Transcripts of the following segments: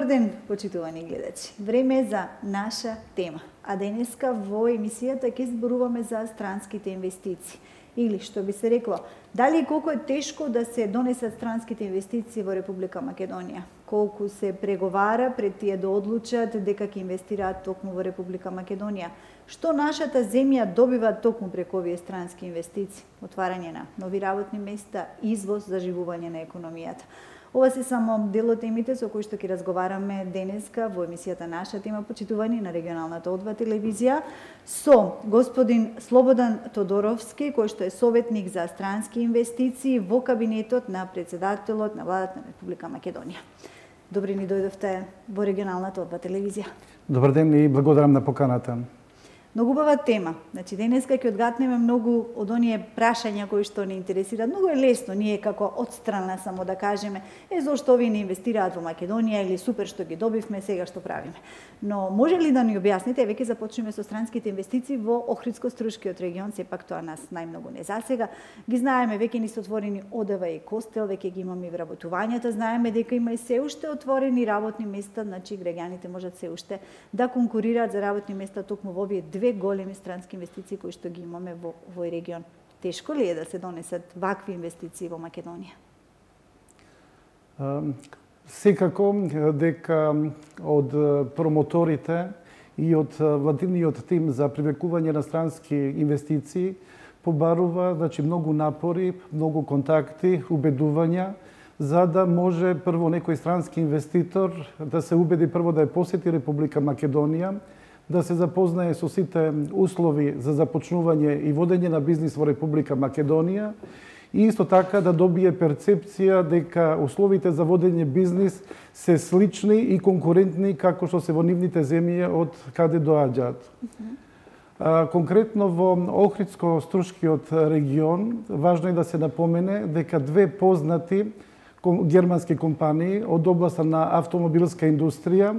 Добар ден, почитувани гледачи. Време е за наша тема. А денеска во емисијата ќе зборуваме за странските инвестиции. Или, што би се рекло, дали и колку е тешко да се донесат странските инвестиции во Република Македонија? Колку се преговара пред тие да одлучат дека ќе инвестираат токму во Република Македонија? Што нашата земја добива токму преку овие странски инвестиции? Отварање на нови работни места, извоз, заживување на економијата. Ова се само дел од темите со кои што ќе разговараме денеска во емисијата Наша тема, почитувани на регионалната О2 телевизија, со господин Слободан Тодоровски, кој што е советник за странски инвестиции во кабинетот на председателот на владата на Република Македонија. Добри ни дојдовте во регионалната О2 телевизија. Добар ден и благодарам на поканата. Многу убава тема. Значи, денеска ќе одгатнеме многу од оние прашања кои што не интересираат. Многу е лесно ние како одстрана само да кажеме зошто овие не инвестираат во Македонија или супер што ги добивме, сега што правиме. Но може ли да ни објасните, веќе започнеме со странските инвестиции во Охридско-Струшкиот регион, сепак тоа нас најмногу не засега. Ги знаеме, веќе ни се отворени Одева и Костел, веќе ги имаме и вработувањата, знаеме дека има и се уште отворени работни места, значи граѓаните можат се уште да конкурираат за работни места токму во овие две големи странски инвестиции кои што ги имаме во овој регион. Тешко ли е да се донесат вакви инвестиции во Македонија? Секако дека од промоторите и од владиниот тим за привлекување на странски инвестиции побарува многу напори, многу контакти, убедувања, за да може прво некој странски инвеститор да се убеди прво да ја посети Република Македонија, да се запознае со сите услови за започнување и водење на бизнис во Република Македонија и исто така да добие перцепција дека условите за водење бизнис се слични и конкурентни како што се во нивните земји од каде доаѓаат. Конкретно во Охридско-Струшкиот регион важно е да се напомене дека две познати германски компании од областа на автомобилска индустрија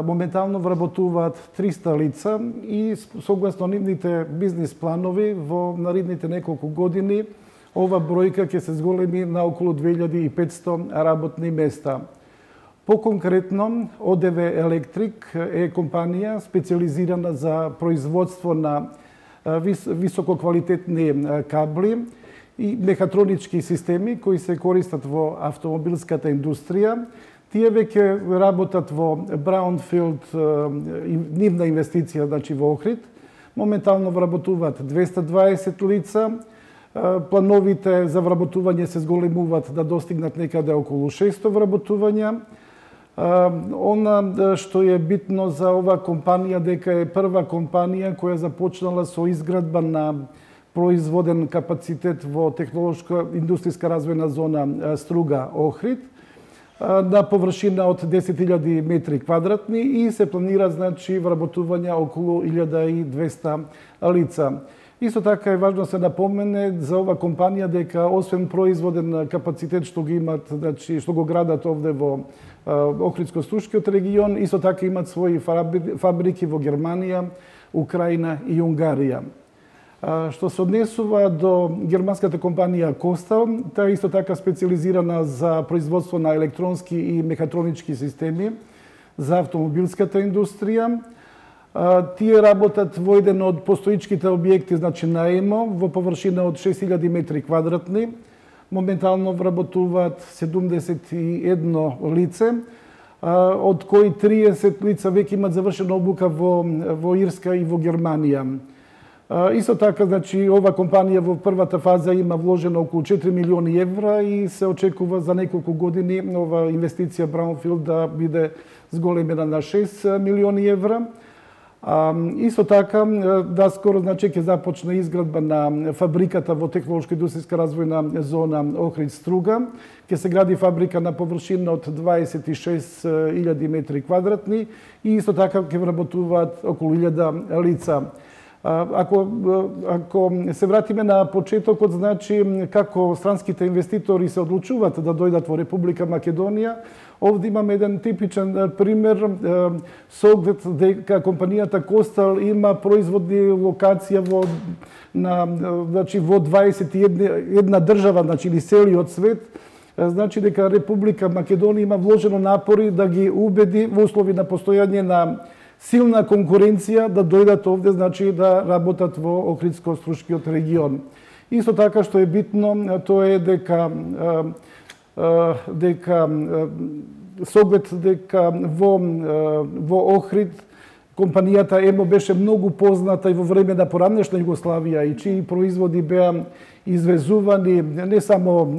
моментално вработуваат 300 лица и согласно нивните бизнис планови во наредните неколку години ова бројка ќе се зголеми на околу 2500 работни места. По-конкретно, ОДВ Електрик е компанија специализирана за производство на висококвалитетни кабли и мехатронички системи кои се користат во автомобилската индустрија. Тие веќе работат во Браунфилд, нивна инвестиција, значи во Охрид. Моментално вработуваат 220 лица. Плановите за вработување се зголемуваат да достигнат некаде околу 600 вработувања. Она што е битно за оваа компанија дека е прва компанија која започнала со изградба на производен капацитет во технолошка индустријска развојна зона Струга Охрид на површина од 10.000 метри квадратни и се планира вработување околу 1200 лица. Исто така е важно се напомене за ова компанија дека освен производен капацитет што ги имат, што го градат овде во Охридско-Струшкиот регион, исто така имат своји фабрики во Германија, Украина и Унгарија. Што се однесува до германската компанија Костел, таа исто така специализирана за производство на електронски и мехатронички системи за автомобилската индустрија. Тие работат во еден од постоичките објекти, на ЕМО, во површина од 6000 метри квадратни. Моментално вработуваат 71 лице, од кои 30 лица веќе имат завршена обука во Ирска и во Германија. Исто така, ова компанија во првата фаза има вложено околу 4 милиони евра и се очекува за неколку години ова инвестиција Браунфилд да биде зголемена на 6 милиони евра. Исто така, скоро ќе започне изградба на фабриката во технолошка индустријска развојна зона Охрид Струга. Ќе се гради фабрика на површина од 26.000 метри квадратни и исто така ќе вработуваат околу 1000 лица. Ако се вратиме на почетокот, како странските инвеститори се одлучуваат да дојдат во Република Македонија, овде имаме еден типичен пример со оглед дека компанијата Костел има производни локација во 21 држава, или целиот свет, значи дека Република Македонија има вложено напори да ги убеди во услови на постојање на силна конкуренција да дојдат овде, значи да работат во Охридско-Струшкиот регион. Исто така што е битно, тоа е дека соглед дека во Охрид компанијата ЕМО беше многу позната и во време на поранешна Југославија и чии производи беа извезувани не само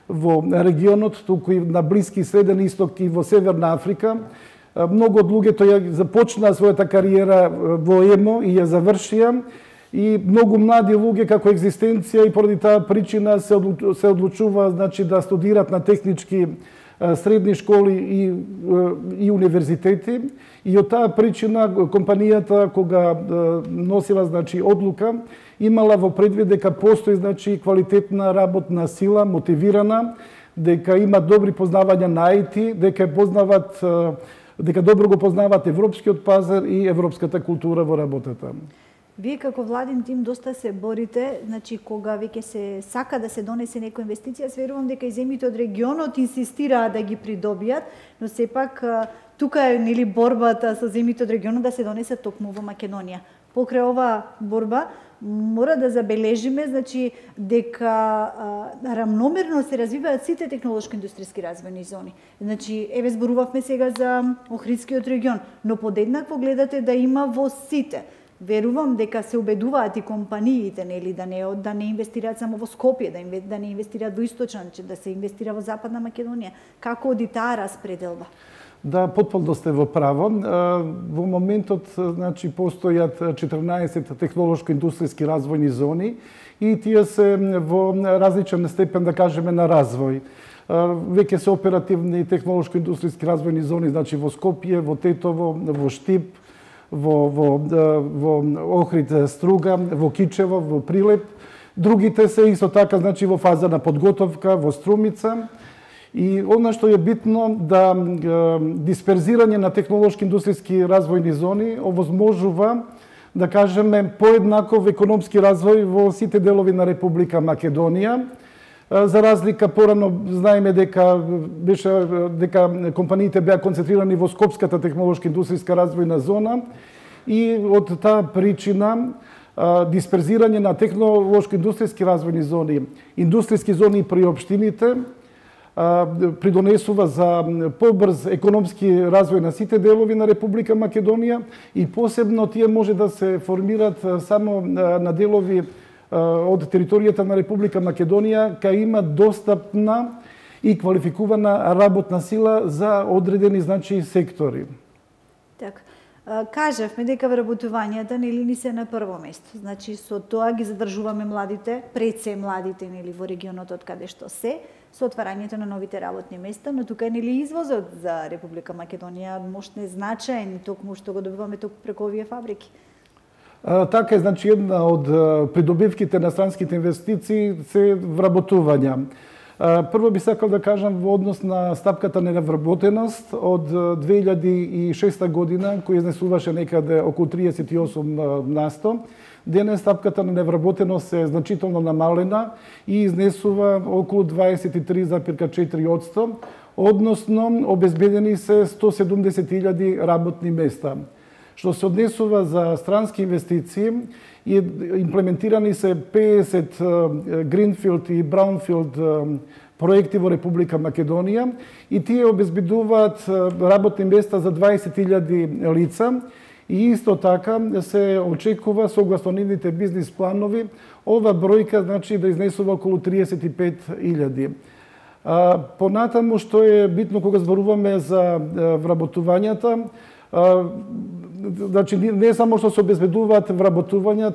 во регионот, туку и на Блиски и Среден Исток и во Северна Африка. Многу од луѓето ја започнаа својата кариера во ЕМО и ја завршија, и многу млади луѓе како екзистенција и поради таа причина се одлучува, значи, да студират на технички средни школи и универзитети, и од таа причина компанијата кога носила, значи, одлука, имала во предвид дека постои, значи, квалитетна работна сила, мотивирана, дека има добри познавања на IT, дека добро го познаваат европскиот пазар и европската култура во работата. Вие како владин тим доста се борите, значи кога веќе се сака да се донесе некоја инвестиција, верувам дека и земјите од регионот инсистираат да ги придобијат, но сепак тука е, нели, борбата со земјите од регионот да се донесе токму во Македонија. Покрај оваа борба мора да забележиме, значи, дека рамномерно се развиваат сите технолошко-индустријски развојни зони. Значи, еве зборувавме сега за Охридскиот регион, но подеднакво гледате да има во сите. Верувам дека се убедуваат и компаниите, нели, да не инвестираат само во Скопје, да не инвестираат во Источна, да се инвестира во Западна Македонија. Како оди таа распределба? Да, потполно сте во право. Во моментот, значи, постојат 14 технолошко-индустријски развојни зони и тие се во различен степен, да кажеме, на развој. Веќе се оперативни технолошко-индустријски развојни зони, значи во Скопје, во Тетово, во Штип, во Охрид Струга, во Кичево, во Прилеп. Другите се исто така, значи, во фаза на подготовка, во Струмица. И она што е битно, да дисперзирање на технолошки-индустријски развојни зони овозможува, да кажеме, поеднаков економски развој во сите делови на Република Македонија. За разлика, порано знаеме дека компаниите беа концентрирани во Скопската технолошко-индустријска развојна зона и од таа причина дисперзирање на технолошко-индустријски развојни зони, индустријски зони при општините придонесува за побрз економски развој на сите делови на Република Македонија и посебно тие може да се формират само на делови од територијата на Република Македонија, кај има достапна и квалификувана работна сила за одредени, значи, сектори. Така. Кажавме дека вработувањата, нели, ни се на прво место. Значи, со тоа ги задржуваме младите, пред се младите, нели, во регионот од каде што се, со отварањето на новите работни места, но тука е, нели, извозот за Република Македонија мощно значаен, токму што го добиваме токму преку овие фабрики. Така е, значи, една од придобивките на странските инвестиции се вработувања. Прво би сакал да кажам во однос на стапката на невработеност од 2006 година, која изнесуваше некаде околу 38%. Денес стапката на невработеност е значително намалена и изнесува околу 23,4%, односно обезбедени се 170.000 работни места. Што се однесува за странски инвестиции, имплементирани се 50 Greenfield и Brownfield проекти во Република Македонија и тие обезбедуваат работни места за 20.000 лица и исто така се очекува согласно нивните бизнис планови ова бројка, значи, да изнесува околу 35.000. Понатаму што е битно кога зборуваме за вработувањата, значи, не само што се обезбедуваат вработувања,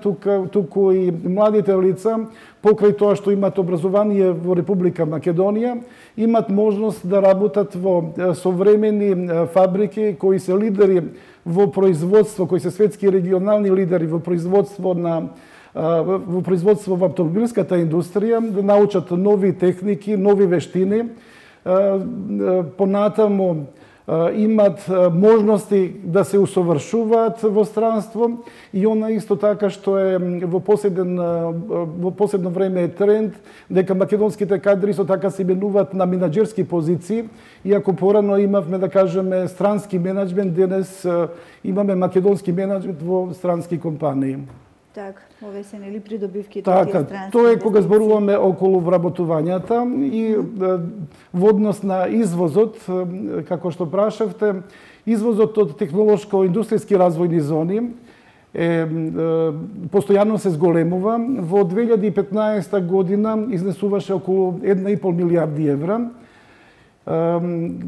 туку и младите лица, покрај тоа што имат образование во Република Македонија, имат можност да работат во современи фабрики кои се лидери во производство, кои се светски регионални лидери во производство во автомобилската индустрија, да научат нови техники, нови вештини. Понатаму имат можности да се усовршуваат во странство и она исто така што е во последно време е тренд дека македонските кадри исто така се именуваат на менаџерски позиции, иако порано имавме да кажеме странски менаџмент, денес имаме македонски менаџмент во странски компании. Така, овие се нели придобивките од тие странски. Тоа е кога зборуваме околу вработувањата и во однос на извозот, како што прашавте, извозот од технолошко-индустријски развојни зони постојано се зголемува. Во 2015 година изнесуваше околу 1,5 милијарди евра.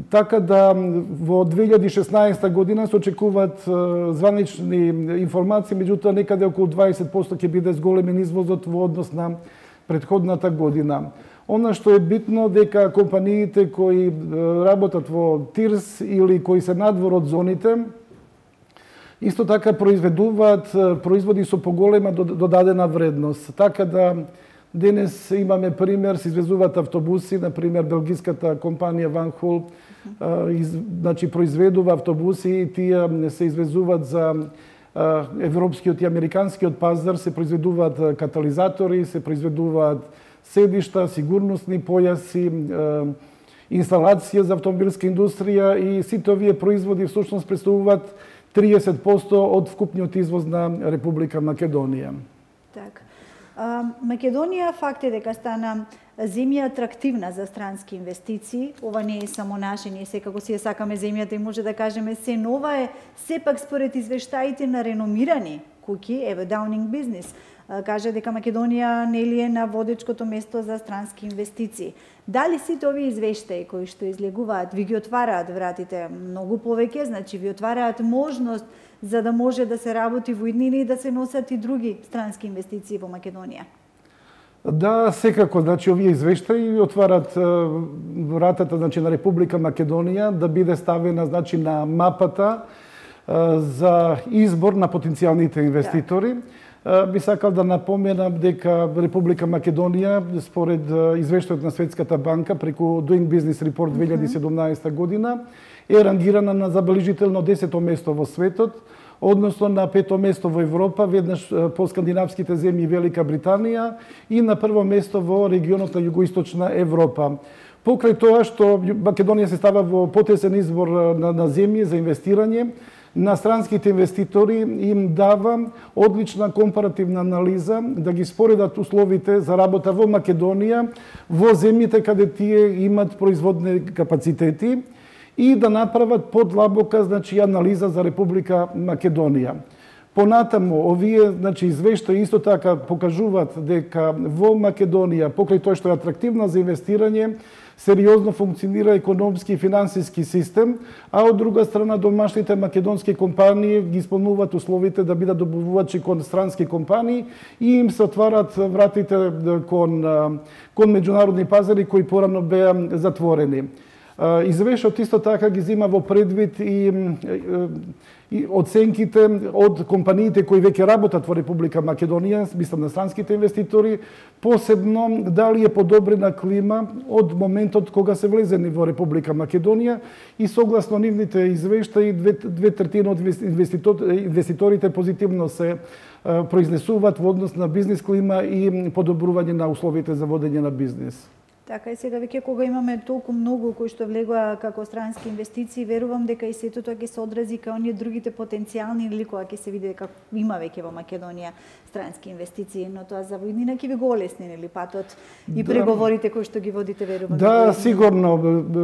Така да во 2016 година се очекуваат званични информации, меѓутоа некаде околу 20% ќе биде зголемен извозот во однос на претходната година. Она што е битно дека компаниите кои работат во ТИРС или кои се надвор од зоните, исто така произведуваат производи со поголема додадена вредност. Така да денес имаме пример, се извезуваат автобуси, например белгиската компанија Van Hool, значи произведува автобуси и тие се извезуваат за европскиот и американскиот пазар, се произведуваат катализатори, се произведуваат седишта, сигурносни појаси, инсталација за автомобилска индустрија и сите овие производи всушност представуваат 30% од вкупниот извоз на Република Македонија. Така. Македонија факт е дека стана земја атрактивна за странски инвестиции. Ова не е само наше, ние секако си ја сакаме земјата и може да кажеме се нова е, сепак според извештаите на реномирани куќи, еве Даунинг Бизнес, каже дека Македонија нели е на водечкото место за странски инвестиции. Дали сите овие извештаи кои што излегуваат ви ги отвараат вратите многу повеќе, значи ви отвараат можност за да може да се работи во иднина и да се носат и други странски инвестиции во Македонија? Да, секако, значи овие извештаи отварат вратата, значи на Република Македонија да биде ставена, значи на мапата за избор на потенцијалните инвеститори. Би сакал да напоменам дека Република Македонија, според извештајот на Светската банка преку Doing Business Report 2017 година, е рангирана на забележително 10-то место во светот, односно на 5-то место во Европа, веднаш по скандинавските земји Велика Британија и на прво место во регионот на Југоисточна Европа. Покрај тоа што Македонија се става во потесен избор на земји за инвестирање, на странските инвеститори им дава одлична компаративна анализа да ги споредат условите за работа во Македонија, во земјите каде тие имат производни капацитети и да направат подлабока, значи, анализа за Република Македонија. Понатаму, овие, значи, извештаи исто така покажуваат дека во Македонија, покрај тоа што е атрактивна за инвестирање, сериозно функционира економски и финансиски систем, а од друга страна домашните македонски компании ги исполнуваат условите да бидат добавувачи кон странски компании и им се отварат вратите кон меѓународни пазари кои порано беа затворени. Извештајот исто така ги зема во предвид и оценките од компаниите кои веќе работат во Република Македонија, мислам на странските инвеститори, посебно дали е подобрена клима од моментот кога се влезени во Република Македонија и согласно нивните извештаи 2/3 од инвеститорите позитивно се произнесуваат во однос на бизнис клима и подобрување на условите за водење на бизнис. Така и сега веќе кога имаме толку многу кои што влегува како странски инвестиции, верувам дека и сето тоа ќе се одрази кај оние другите потенцијални или кога ќе се види дека има веќе во Македонија странски инвестиции, но тоа за војнина ќе ви го олесни нели патот и преговорите кои што ги водите, верувам. Да, сигурно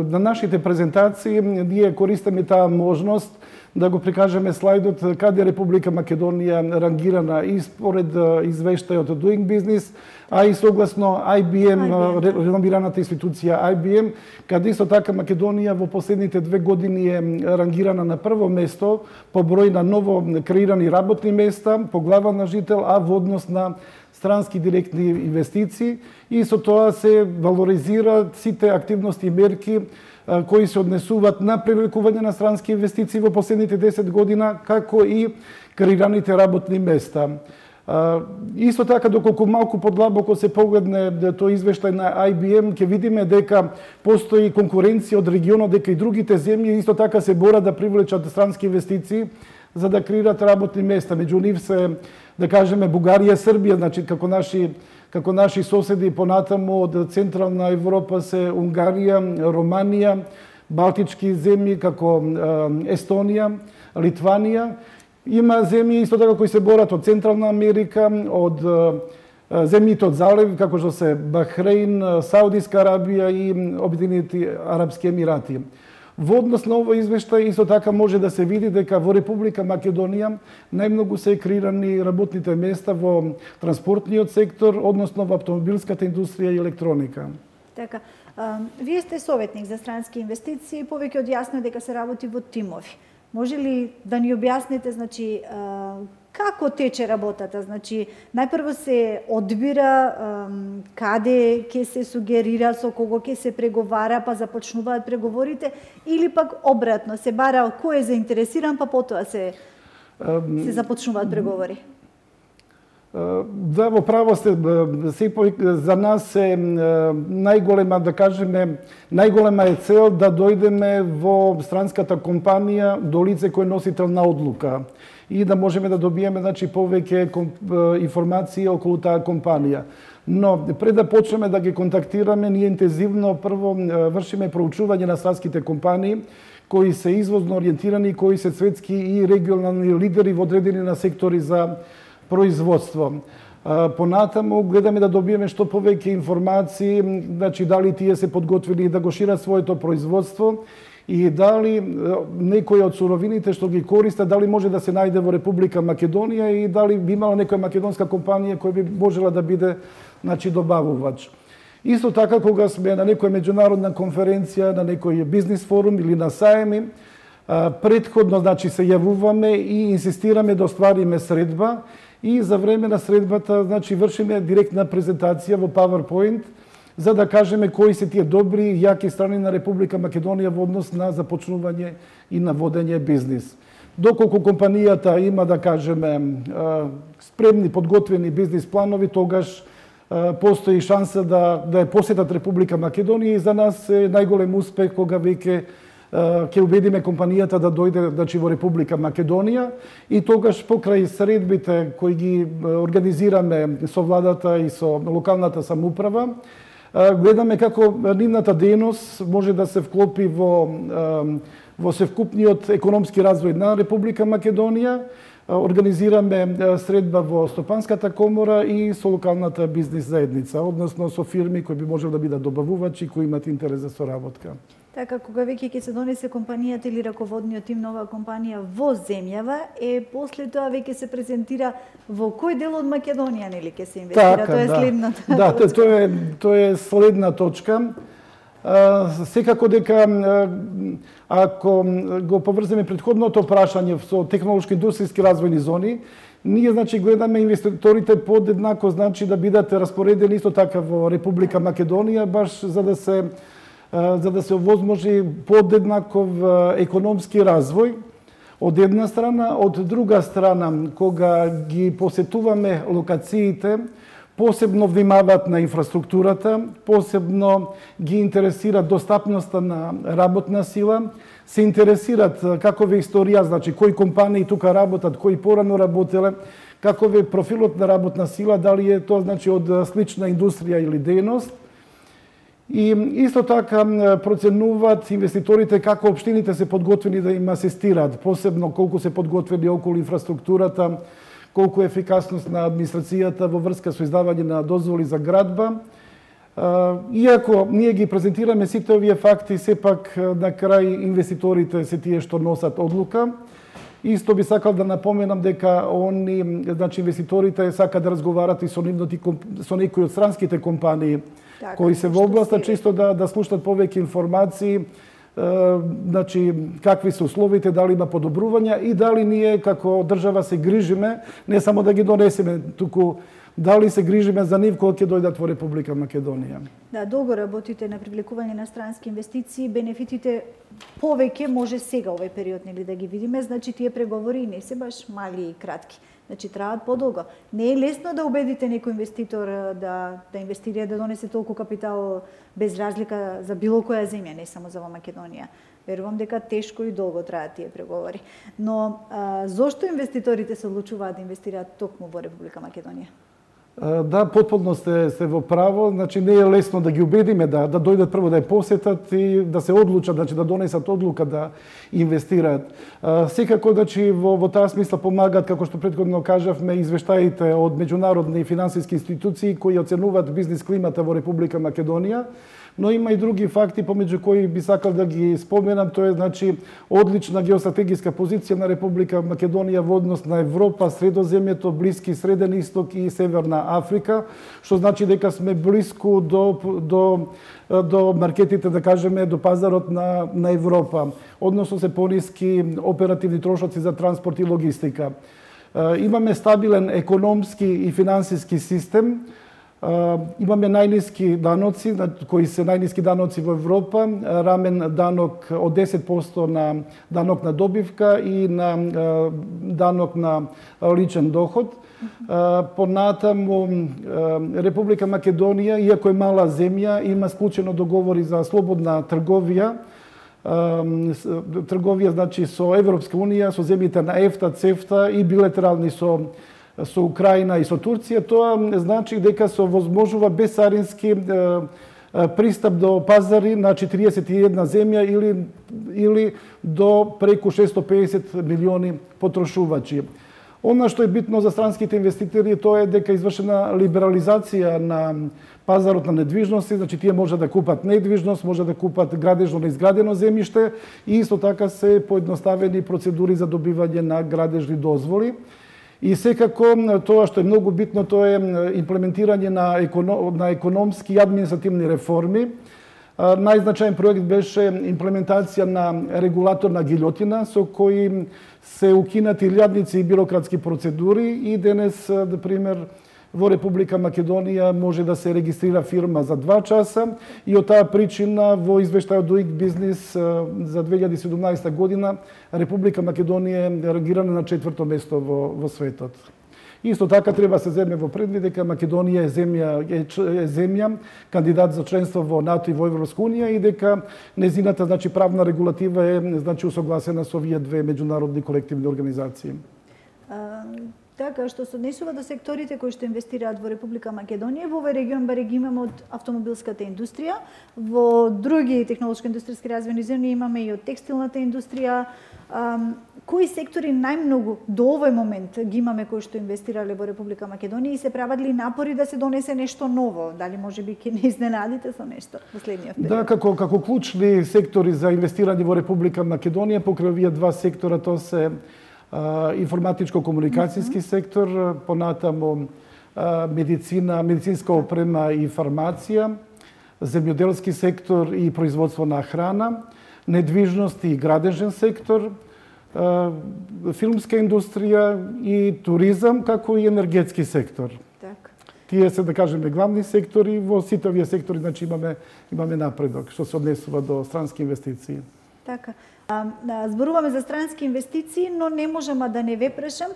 на нашите презентации ние користиме таа можност да го прикажеме слайдот каде Република Македонија рангирана и според извештајот од Doing Business, а и согласно IBM, реномираната институција IBM, каде исто така Македонија во последните 2 години е рангирана на прво место по број на ново креирани работни места, по глава на жител, а во однос на странски директни инвестиции и со тоа се валоризираат сите активности и мерки кои се однесуваат на привлекување на странски инвестиции во последните 10 година, како и креираните работни места. Исто така, доколку малку подлабоко се погледне тој извештај на IBM, ќе видиме дека постои конкуренција од регионот, дека и другите земји исто така се борат да привлечат странски инвестиции за да креират работни места. Меѓу нив се, да кажеме, Бугарија, Србија, значи како наши соседи, понатаму од Централна Европа се Унгарија, Романија, Балтички земји како Естонија, Литванија. Има земји исто така кои се борат од Централна Америка, од земјите од залив, како што се Бахрейн, Саудиска Арабија и Обединети Арапски Емирати. Во однос на овој извештај исто така може да се види дека во Република Македонија најмногу се креирани работните места во транспортниот сектор, односно во автомобилската индустрија и електроника. Така, вие сте советник за странски инвестиции, повеќе од јасно дека се работи во тимови. Може ли да ни објасните, значи, како тече работата? Значи, најпрво се одбира каде ќе се сугерира, со кого ќе се преговара, па започнуваат преговорите, или пак обратно, се бара кој е заинтересиран, па потоа се започнуваат преговори? Да, во право сте, за нас е најголема, да кажеме, најголема е цел да дојдеме во странската компанија до лице кој е носител на одлука и да можеме да добиеме, значи, повеќе информации околу таа компанија. Но пред да почнеме да ги контактираме, ние интензивно прво вршиме проучување на странските компании кои се извозно ориентирани, кои се светски и регионални лидери во одредени на сектори за производство. Понатаму гледаме да добиеме што повеќе информации, значи дали тие се подготвили да го шират своето производство и дали некои од суровините што ги користат, дали може да се најде во Република Македонија и дали би имала некоја македонска компанија која би можела да биде, значи, добавувач. Исто така, кога сме на некоја меѓународна конференција, на некој бизнис форум или на саеми, претходно, значи, се јавуваме и инсистираме да оствариме средба и за време на средбата, значи, вршиме директна презентација во PowerPoint за да кажеме кои се тие добри и јаки страни на Република Македонија во однос на започнување и на водење бизнис. Доколку компанијата има, да кажеме, спремни, подготвени бизнис планови, тогаш постои шанса да ја посетат Република Македонија и за нас е најголем успех кога веќе ќе убедиме компанијата да дојде, значи, во Република Македонија и тогаш покрај средбите кои ги организираме со владата и со локалната самоуправа, гледаме како нивната дејност може да се вклопи во севкупниот економски развој на Република Македонија. Организираме средба во Стопанската комора и со локалната бизнис заедница, односно со фирми кои би можели да бидат добавувачи кои имат интерес за соработка. Така, кога веќе ќе се донесе компанијата или раководниот тим на оваа компанија во земјава, после тоа веќе се презентира во кој дел од Македонија, нели ќе се инвестира? Така, тоа е следната точка. Да, тоа е следна точка. Секако дека ако го поврземе претходното прашање со технолошко-индустријски развојни зони, ние, значи, гледаме инвеститорите подеднако, значи, да бидат распоредени исто така во Република Македонија, баш за да се овозможи подеднаков економски развој од една страна, од друга страна, кога ги посетуваме локациите, посебно внимаваат на инфраструктурата, посебно ги интересира достапноста на работна сила, се интересират каков е историја, значи кои компании тука работат, кои порано работеле, каков е профилот на работна сила, дали е тоа, значи, од слична индустрија или дејност. И исто така проценуваат инвеститорите како општините се подготвени да им асистираат, посебно колку се подготвени околу инфраструктурата, колку е ефикасност на администрацијата во врска со издавање на дозволи за градба. Иако ние ги презентираме сите овие факти, сепак на крај инвеститорите се тие што носат одлука. Исто би сакал да напоменам дека они, значи, инвеститорите сакаат да разговарат и со некои од странските компании кои се во областа, чисто да слушнат повеќе информации, значи, какви се условите, дали има подобрувања и дали ние како држава се грижиме не само да ги донесеме, туку дали се грижиме за нив кога ќе дојдат во Република Македонија. Да, долго работите на привлекување на странски инвестиции, бенефитите повеќе може сега овој период нели да ги видиме, значи тие преговори не се баш мали и кратки. Значи траат подолго. Не е лесно да убедите некој инвеститор да инвестира, да донесе толку капитал без разлика за било која земја, не само за во Македонија. Верувам дека тешко и долго траат тие преговори. Но зошто инвеститорите се одлучуваат да инвестираат токму во Република Македонија? Да, потполно сте во право, значи не е лесно да ги убедиме да дојдат прво да ја посетат и да се одлучат, значи да донесат одлука да инвестираат. Секако значи во таа смисла помагаат, како што претходно кажавме, извештаите од меѓународни финансиски институции кои оценуваат бизнис климата во Република Македонија. Но има и други факти помеѓу кои би сакал да ги споменам, тоа е значи одлична геостратегиска позиција на Република Македонија во однос на Европа, Средоземјето, Блиски Среден Исток и Северна Африка, што значи дека сме блиску до маркетите, да кажеме, до пазарот на Европа. Односно се пониски оперативни трошоци за транспорт и логистика. Имаме стабилен економски и финансиски систем. Имаме најниски даноци, кои се најниски даноци во Европа, рамен данок од 10% на данок на добивка и на данок на личен доход. Понатаму Република Македонија, иако е мала земја, има склучено договори за слободна трговија. Трговија значи со Европска унија, со земјите на ЕФТА, ЦЕФТА и билатерални со Украина и со Турција. Тоа значи дека се овозможува безцарински пристап до пазари на 41 земја или до преку 650 милиони потрошувачи. Она што е битно за странските инвеститори тоа е дека извршена либерализација на пазарот на недвижности, значи тие може да купат недвижност, може да купат градежно неизградено земјиште и исто така се поедноставени процедури за добивање на градежни дозволи. И секако тоа што е многу битно, тоа е имплементирање на економски и административни реформи. Најзначаен проект беше имплементација на регулаторна гилјотина со кои се укинати илјадници и бирократски процедури и денес, на пример, во Република Македонија може да се регистрира фирма за 2 часа и од таа причина во извештајот Doing Business за 2017 година Република Македонија е рангирана на 4-то место во светот. Исто така треба се земе во предвид дека Македонија е земја кандидат за членство во НАТО и во Европска унија и дека незината значи правна регулатива е значи усогласена со овие две меѓународни колективни организации. Така, што се однесува до секторите кои што инвестираат во Република Македонија, во овој регион баре ги имаме од автомобилската индустрија, во други технолошко-индустријски развојни зони имаме и од текстилната индустрија. Кои сектори најмногу до овој момент ги имаме кои што инвестирале во Република Македонија и се прават ли напори да се донесе нешто ново? Дали може би ќе не изненадите со нешто во следниот период? Да, како клучни сектори за инвестирање во Република Македонија, покрај овие два сектора, тоа се информатичко-комуникацијски сектор, понатаму медицина, медицинска опрема и фармација, земјоделски сектор и производство на храна, недвижност и градежен сектор, филмска индустрија и туризам, како и енергетски сектор. Так. Тие се, да кажеме, главни сектори. Во сите овие сектори значи имаме напредок што се однесува до странски инвестиции. Така. Зборуваме за странски инвестиции, но не можам да не ве прашам.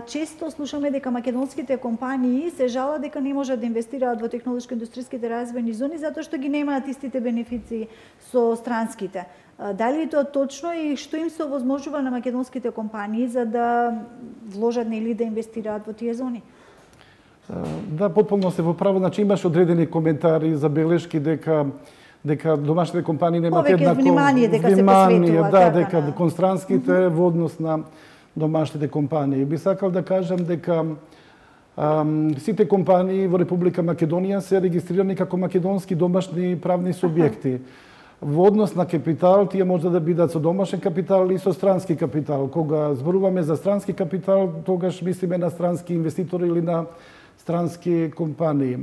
Често слушаме дека македонските компании се жалат дека не можат да инвестираат во технолошко-индустријските развојни зони затоа што ги немаат истите бенефиции со странските. Дали е тоа точно и што им се овозможува на македонските компании за да вложат или да инвестираат во тие зони? Да, потполно се во право. Значи имаш одредени коментари, забелешки дека домашните компании немаат еднакво внимание дека се посветува, да, дека кон странските во однос на домашните компании. Би сакал да кажам дека сите компании во Република Македонија се регистрирани како македонски домашни правни субјекти. Во однос на капитал, тие може да бидат со домашен капитал и со странски капитал. Кога зборуваме за странски капитал, тогаш мислиме на странски инвеститори или на странски компании.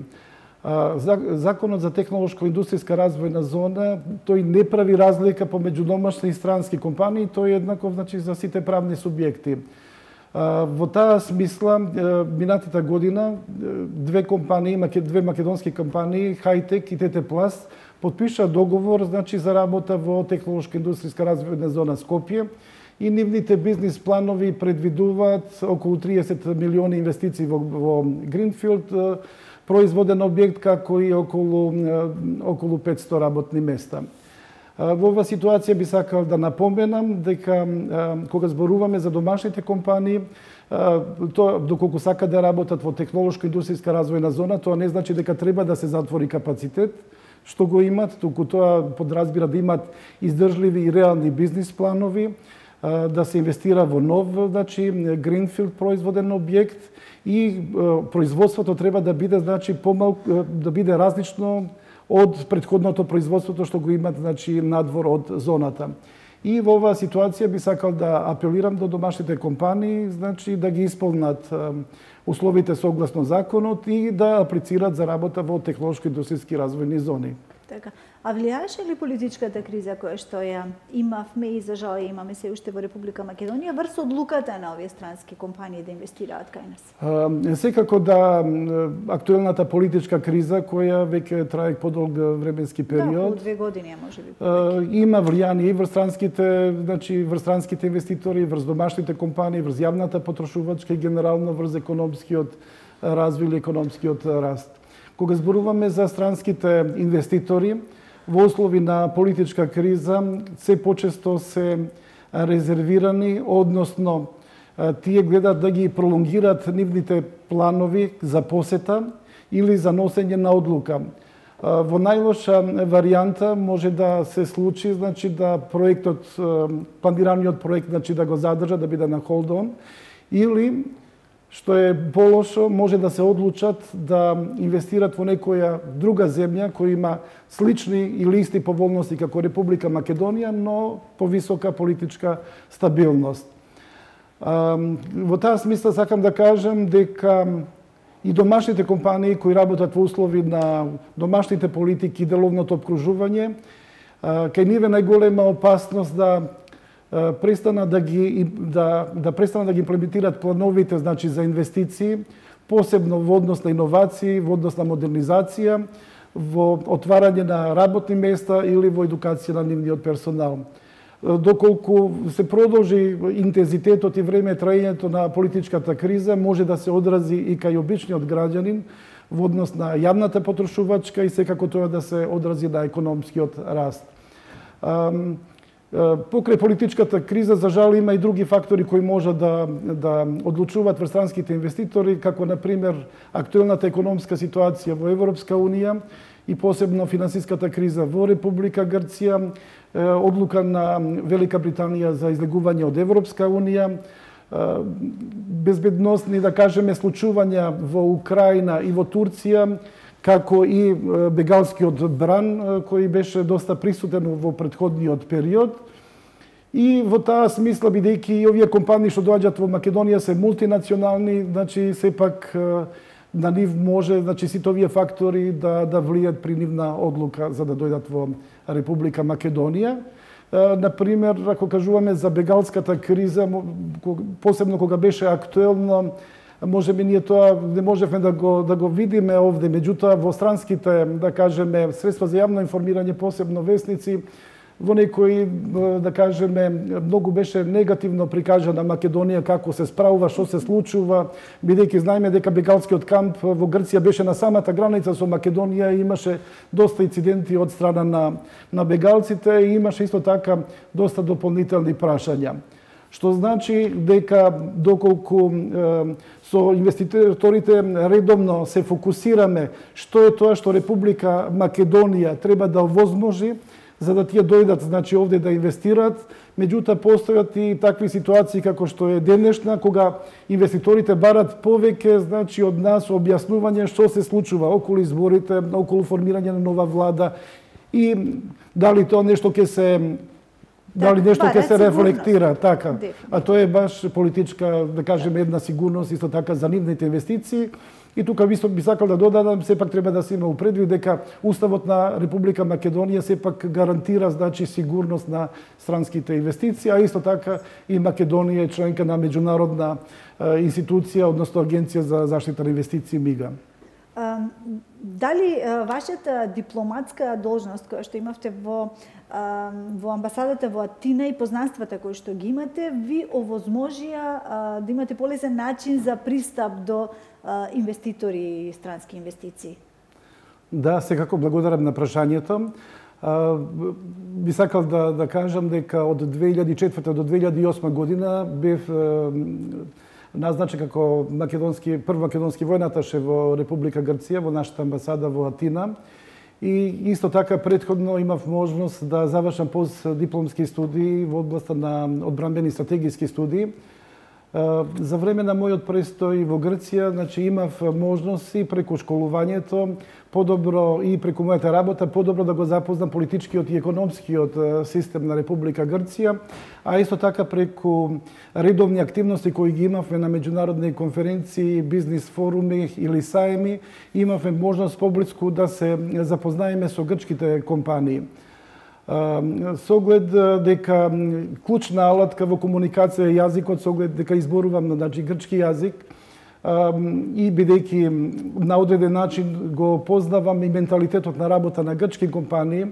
Законот за технолошко-индустријска развојна зона, тој не прави разлика помеѓу домашни и странски компании, тој е еднаков значи за сите правни субјекти. Во таа смисла, минатата година, две македонски компании, Хайтек и ТТ Пласт, потпиша договор за работа во технолошко-индустријска развојна зона Скопје и нивните бизнис планови предвидуваат околу 30 милиони инвестиции во Гринфилд, производен објект, како и околу 500 работни места. Во оваа ситуација би сакал да напоменам дека кога зборуваме за домашните компании, доколку сакат да работат во технолошко-индустријска развојна зона, тоа не значи дека треба да се затвори капацитет, што го имат, туку тоа подразбира да имат издржливи и реални бизнис планови, да се инвестира во нов, Гринфилд производен објект и производството треба да биде, да биде различно од претходното производството што го имат, надвор од зоната. И во оваа ситуација би сакал да апелирам до домашните компании, да ги исполнат условите согласно законот и да аплицираат за работа во технолошко-индустријски развојни зони. Така. А влијаеше ли политичката криза која што ја имавме и за жал ја имаме се уште во Република Македонија врз одлуката на овие странски компании да инвестираат кај нас? Секако да, актуелната политичка криза која веќе трае подолг временски период. Да, 2 години можеби. Има влијание и врз странските инвеститори, врз домашните компании, врз јавната потрошувачка и генерално врз економскиот развој или економскиот раст. Кога зборуваме за странските инвеститори, во услови на политичка криза, се почесто се резервирани, односно тие гледат да ги пролонгираат нивните планови за посета или за носење на одлука. Во најлоша варијанта може да се случи, да проектот, планираниот проект, да го задржат, да биде на холд-он, или што е полошо, може да се одлучат да инвестират во некоја друга земја која има слични или исти поволности како Република Македонија, но повисока политичка стабилност. Во таа смисла сакам да кажам дека и домашните компании кои работат во услови на домашните политики и деловното обкружување, кај ниве најголема опасност да престанат да ги имплементираат плановите за инвестиции, посебно во однос на иновации, во однос на модернизација, во отварање на работни места или во едукација на нивниот персонал. Доколку се продолжи интензитетот и време траењето на политичката криза, може да се одрази и кај обичниот граѓанин во однос на јавната потрошувачка и секако тоа да се одрази на економскиот раст. Покрај политичката криза, за жал, има и други фактори кои можат да одлучуваат врз странските инвеститори, како, например, актуелната економска ситуација во Европска Унија и посебно финансиската криза во Република Грција, одлука на Велика Британија за излегување од Европска Унија, безбедносни, да кажеме, случувања во Украина и во Турција, како и бегалскиот бран, кој беше доста присутен во претходниот период. И во таа смисла, бидејќи и овие компании што доаѓаат во Македонија се мултинационални, сепак на нив може, сите овие фактори да влијат при нивна одлука за да дојдат во Република Македонија. Например, ако кажуваме за бегалската криза, посебно кога беше актуелно, можеби ние тоа не можевме да го видиме овде, меѓутоа во странските, да кажеме, средства за јавно информирање, посебно весници, во некои, да кажеме, многу беше негативно прикажана Македонија, како се справува, што се случува, бидејќи знаеме дека бегалскиот камп во Грција беше на самата граница со Македонија и имаше доста инциденти од страна на бегалците и имаше исто така доста дополнителни прашања. Што значи дека доколку со инвеститорите редовно се фокусираме што е тоа што Република Македонија треба да овозможи за да тие дојдат овде да инвестираат, меѓутоа постојат и такви ситуации како што е денешна, кога инвеститорите барат повеќе од нас објаснување што се случува околу изборите, околу формирање на нова влада и дали тоа нешто ќе се рефлектира, така. А тоа е баш политичка, да кажеме, една сигурност исто така за нивните инвестиции И тука би сакал да додадам, сепак треба да се има предвид дека Уставот на Република Македонија сепак гарантира значи сигурност на странските инвестиции, а исто така и Македонија е членка на меѓународна институција, односно Агенција за заштита на инвестиции МИГА. Дали вашата дипломатска должност која што имавте во амбасадата во Атина и познанствата кои што ги имате, ви овозможија да имате полесен начин за пристап до инвеститори и странски инвестиции? Да, секако благодарам на прашањето. Би сакал да кажам дека од 2004 до 2008 година бев назначен како прв македонски војнаташе во Република Грција, во нашата амбасада во Атина. И исто така претходно имав можност да завршам постдипломски студии во областа на одбранбени стратегиски студии. За време на мојот престој во Грција, значи имав можност и преку школувањето, подобро и преку мојата работа, подобро да го запознам политичкиот и економскиот систем на Република Грција, а исто така преку редовни активности кои ги имавме на меѓународни конференции, бизнис форуми или саеми, имавме можност поблиску да се запознаеме со грчките компании. Со оглед дека клучна алатка во комуникација е јазикот, со оглед дека изборувам на грчки јазик и бидејќи на одреден начин го познавам и менталитетот на работа на грчки компании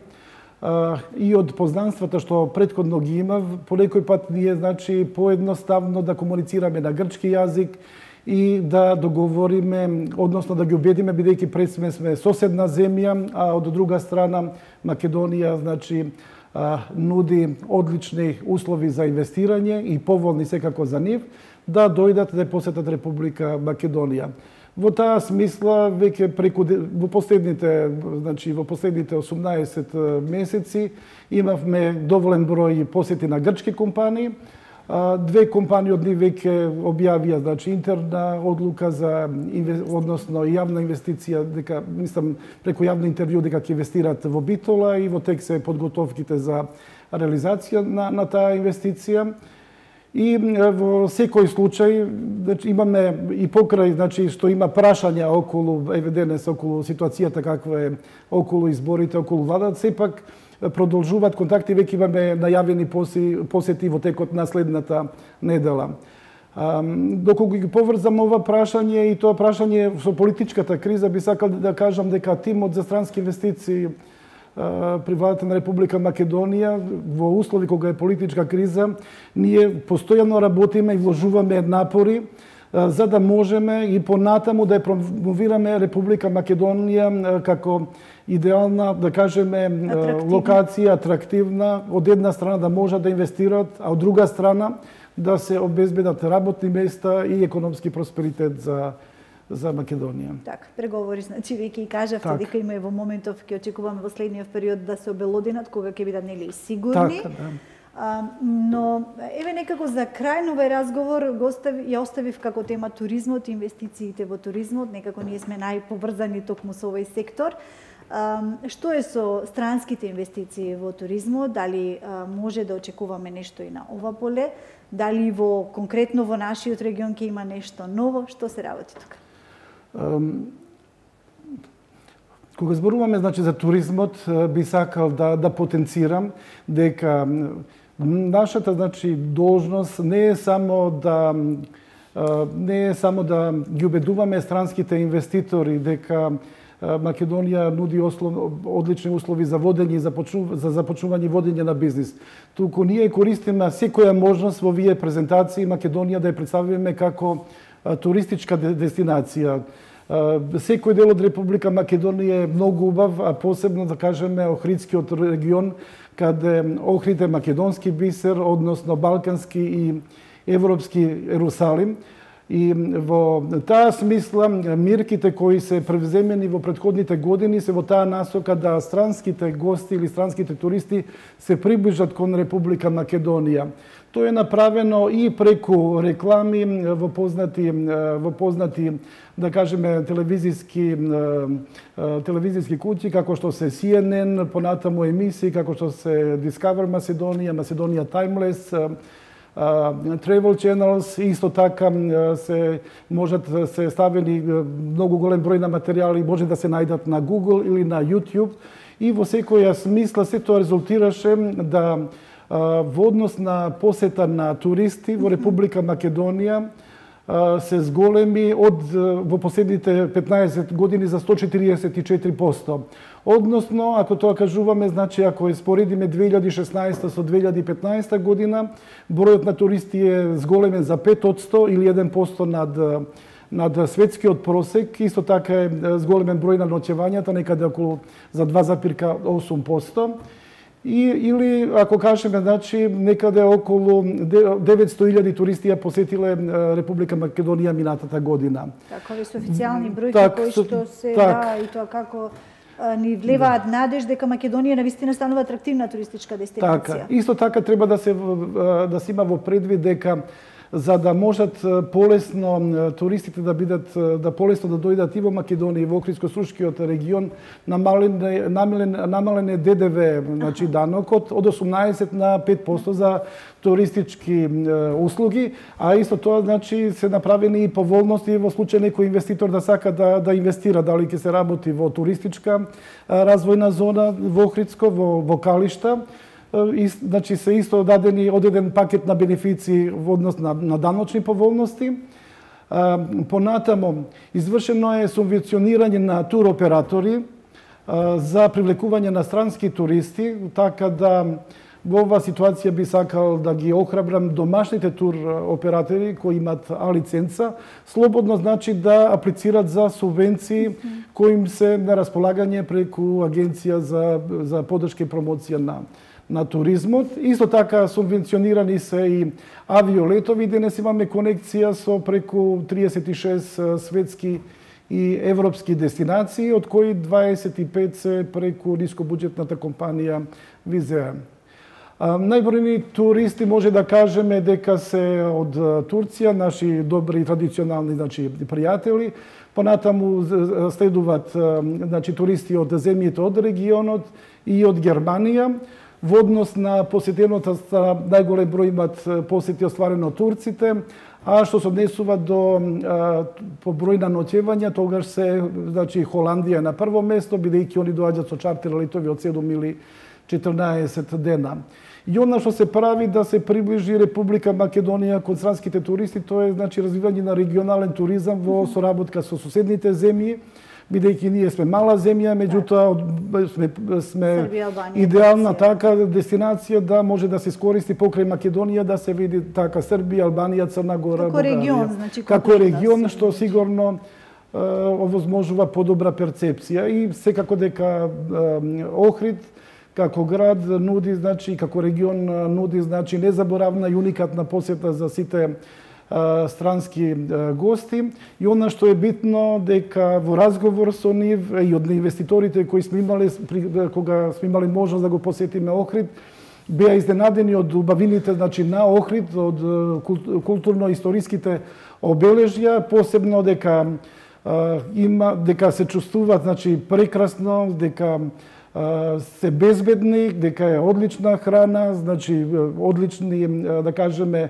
и од познанствата што претходно ги имав, по некој пат ние значи поедноставно да комуницираме на грчки јазик и да договориме, односно да ги убедиме, бидејќи пред сме соседна земја, а од друга страна Македонија значи нуди одлични услови за инвестирање и поволни секако за нив, да дојдат да посетат Република Македонија. Во таа смисла веќе во последните 18 месеци имавме доволен број посети на грчки компании. Две компании од нив веќе објавија значи интерна одлука за односно јавна инвестиција, дека мислам преку јавно интервју дека ќе инвестираат во Битола и во тек се подготовките за реализација на таа инвестиција. И во секој случај значи имаме и покрај значи што има прашања околу евиденес околу ситуацијата каква е околу изборите, околу владата, сепак продолжуваат контакти, веќе имаме најавени посети во текот на следната недела. Доколку ги поврзам ова прашање и тоа прашање со политичката криза, би сакал да кажам дека тимот за странски инвестиции при владата на Република Македонија во услови кога е политичка криза, ние постојано работиме и вложуваме напори за да можеме и понатаму да ја промовираме Република Македонија како идеална, да кажеме, локација, атрактивна, од една страна да можат да инвестираат, а од друга страна да се обезбедат работни места и економски просперитет за Македонија. Така, преговори, значи веќе и кажавте дека има и во моментов ќе очекуваме во следниот период да се обелоденат, кога ќе бидат нели сигурни. Така, да. Но еве некако за крај на овој разговор ја оставив како тема туризмот и инвестициите во туризмот, некако ние сме најповрзани токму со овој сектор. Што е со странските инвестиции во туризмот? Дали може да очекуваме нешто и на ова поле? Дали конкретно во нашиот регион ќе има нешто ново? Што се работи тука? Кога зборуваме значи за туризмот, би сакал да потенцирам дека нашата значи должност не е само да ги убедуваме странските инвеститори дека Македонија нуди одлични услови за водење и за започнување и водење на бизнис. Туку ние користиме секоја можност во овие презентации Македонија да ја представиме како туристичка дестинација. Секој дел од Република Македонија е многу убав, а посебно да кажеме Охридскиот регион, каде Охрид е македонски бисер, односно балкански и европски Ерусалим. И во таа смисла мерките кои се превземени во претходните години се во таа насока да странските гости или странските туристи се приближат кон Република Македонија. Тоа е направено и преку реклами во познати да кажеме телевизиски куќи како што се CNN, понатаму емисии како што се Discover Macedonia, Macedonia Timeless, travel channels, исто така се можат да се ставени многу голем број на материјали, може да се најдат на Google или на YouTube, и во секоја смисла се тоа резултираше да во однос на посета на туристи во Република Македонија се зголеми во последните 15 години за 144%. Односно, ако тоа кажуваме, значи ако споредиме 2016 со 2015 година, бројот на туристи е зголемен за 5% или 1% над светскиот просек. Исто така е зголемен број на ноќевањата, некаде околу за 2,8%. Или, ако кажеме, значи, некаде околу 900.000 туристи ја посетиле Република Македонија минатата година. Така, овие се официјални бројки кои што се и тоа како ни влеваат надеж дека Македонија навистина станува атрактивна туристичка дестинација. Така, исто така треба да се има во предвид дека за да можат полесно туристите да полесно да дојдат и во Македонија и во Охридско-Срушкиот регион, намален е ДДВ, значи данокот од 18 на 5% за туристички услуги, а исто тоа значи се направени и поволности во случај некој инвеститор да сака да инвестира, дали ќе се работи во туристичка развојна зона во Охридско, во Калишта. Значи се исто дадени одреден пакет на бенефиции во однос на даночни поволности. Понатамо, извршено е субвенционирање на туроператори за привлекување на странски туристи, така да во оваа ситуација би сакал да ги охрабрам домашните туроператори кои имаат А лиценца, слободно значи да аплицират за субвенции кои им се на располагање преку Агенција за поддршка и промоција на туризмот. Исто така субвенционирани се и авиолетови. Денес имаме конекција со преку 36 светски и европски дестинации, од кои 25 се преку нискобуџетната компанија Wizz Air. Најбројни туристи може да кажеме дека се од Турција, наши добри традиционални пријатели. Понатаму следуваат туристи од земјите од регионот и од Германија. Во однос на посетената најголем број имат посети остварено од турците, а што се однесува по број на ноќевања, тогаш се Холандија на прво место, бидејќи они доаѓаат со чартер летови од 7 или 14 дена. И она што се прави да се приближи Република Македонија кон странските туристи, тоа е развивање на регионален туризам во соработка со соседните земји, бидејќи ние сме мала земја, меѓутоа сме идеална така дестинација да може да се искористи покрај Македонија, да се види така Србија, Албанија, Црна Гора, Бугарија. Како регион, што сигурно овозможува подобра перцепција. И секако дека Охрид како град нуди, како регион нуди незаборавна и уникатна посета за сите странски гости. И она што е битно, дека во разговор со нив и од инвеститорите кои сме имале, кога сме имали можност да го посетиме Охрид, беа изненадени од убавините на Охрид, од културно-историските обележја, посебно дека се чувствуваат прекрасно, дека се безбедни, дека е одлична храна, одлични, да кажеме,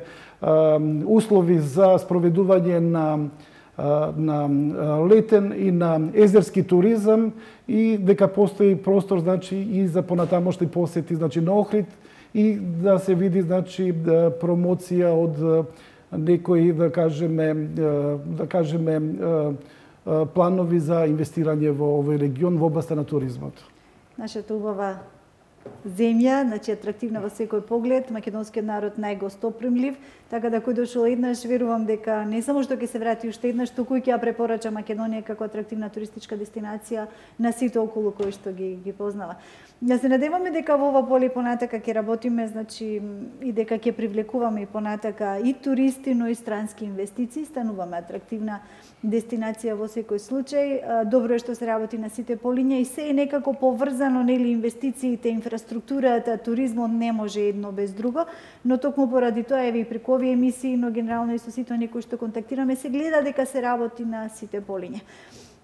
услови за спроведување на летен и на езерски туризам, и дека постои простор и за понатамошни посети на Охрид, и да се види промоција од некои, да кажеме, планови за инвестирање во овој регион во областа на туризмот. Нашата убава земја, атрактивна во секој поглед, македонскиот народ најгостопримлив, така да кој дошол еднаш, верувам дека не само што ќе се врати уште еднаш, туку и ќе ја препорача Македонија како атрактивна туристичка дестинација на сите околу кои што ги познава. Да се надеваме дека во ова поле понатака ќе работиме, и дека ќе привлекуваме и понатака и туристи, но и странски инвестиции, стануваме атрактивна дестинација во секој случај. Добро е што се работи на сите полиња и се е некако поврзано, нели, инвестициите, инфраструктурата, туризмот не може едно без друго, но токму поради тоа и преку овие емисии, но генерално и со сите оние кои што контактираме, се гледа дека се работи на сите полиња.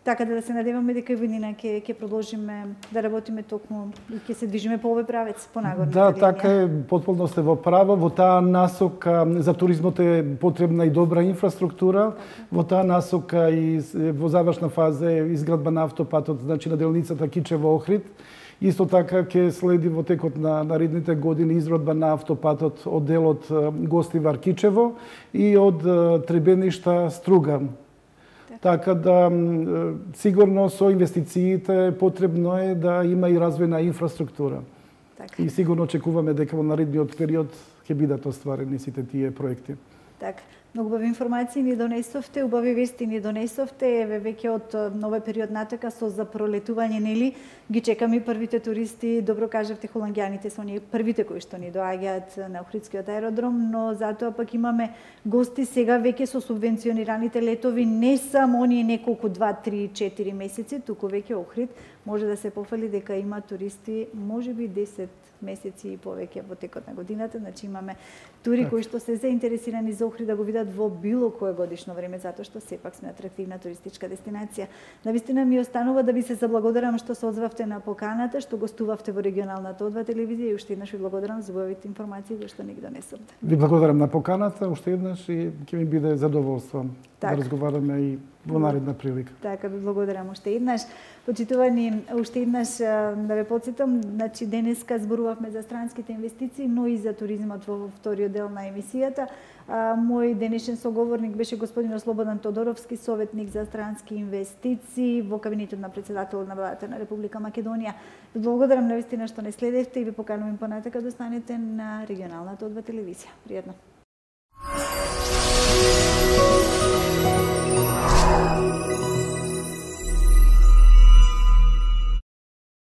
Така да се надеваме дека и година ќе продолжиме да работиме токму и ќе се движиме по овој правец, по нагорната Да, линија. така е, потполно сте во право. Во таа насока за туризмот е потребна и добра инфраструктура. Во таа насока и во завршна фаза е изградба на автопатот, значи на делницата Кичево-Охрид. Исто така ќе следи во текот на наредните години изградба на автопатот од делот Гостивар-Кичево и од Требеништа Струга. Така да, сигурно со инвестициите потребно е да има и развој на инфраструктура. Така. И сигурно очекуваме дека во наредниот период ќе бидат остварени сите тие проекти. Така. Многу убави информации ни донесовте, убави вести ни донесовте, еве веќе од новиот период натака со за пролетување, нели, ги чекаме првите туристи, добро кажавте, холандјаните се оние првите кои што ни доаѓаат на Охридскиот аеродром, но затоа пак имаме гости сега веќе со субвенционираните летови, не само оние неколку 2, 3, 4 месеци, туку веќе Охрид може да се пофали дека има туристи, можеби 10 месеци и повеќе во текот на годината, значи имаме тури кои што се заинтересирани за Охрид да го видат во било кое годишно време, затоа што сепак сме атрактивна туристичка дестинација. Навистина ми останува да ви се заблагодарам што се озвавте на поканата, што гостувавте во регионалната О2 телевизија и уште еднаш ви благодарам за убавите информации кои што ни ги донесовте. Ви благодарам на поканата уште еднаш и ќе ми биде задоволство да разговараме и во наредна прилика. Така, ви благодарам уште еднаш. Почитувани, уште еднаш да ве потсетам, значи денеска зборувавме за странските инвестиции, но и за туризмот во вториот дел на емисијата. Мој денешен соговорник беше господин Слободан Тодоровски, советник за странски инвестиции во кабинетот на председателот на владата на Република Македонија. Ви благодарам навистина што не следевте и ви поканувам понатака да останете на регионалната О2 телевизија. Пријатно.